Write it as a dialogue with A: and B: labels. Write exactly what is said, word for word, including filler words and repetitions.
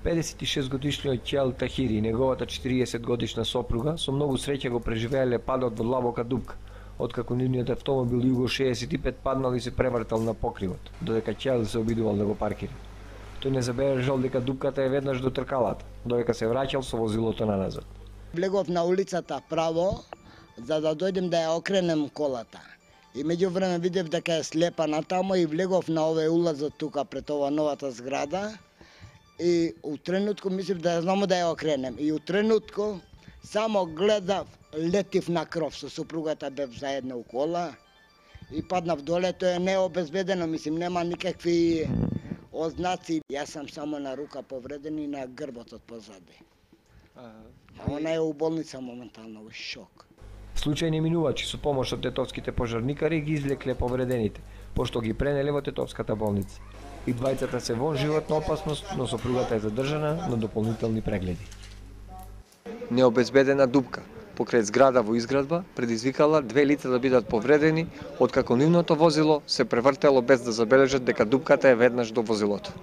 A: педесет и шест годишниот Ќел Тахири и неговата четириесет годишна сопруга со многу среќа го преживеале падот во длабока дупка, откако нивниот автомобил Југо шеесет и пет паднал и се превртел на покривот, додека Ќел се обидувал да го паркира. Тој не забележал дека дупката е веднаш до тркалата, додека се враќал со возилото наназад.
B: Влегов на улицата право, за да дојдем да ја окренем колата. И меѓувреме видев дека е слепа натамо и влегов на овој улазот тука пред ова новата зграда. И у тренутку мислив да ја знамо да ја окренем. И у тренутку само гледав, летив на кров, со супругата бев заедно у кола и паднав доле, тоа е необезбедено, мислим, нема никакви ознаци. Јас сам само на рука повреден и на грбот позади. А она е у болница моментално, у шок.
A: Случајни минувачи со помош од тетовските пожарникари ги извлекле повредените, пошто ги пренеле во тетовската болница. И двајцата се во животна опасност, но сопругата е задржана на дополнителни прегледи. Необезбедена дупка покрај зграда во изградба предизвикала две лица да бидат повредени, откако нивното возило се превртело без да забележат дека дупката е веднаш до возилото.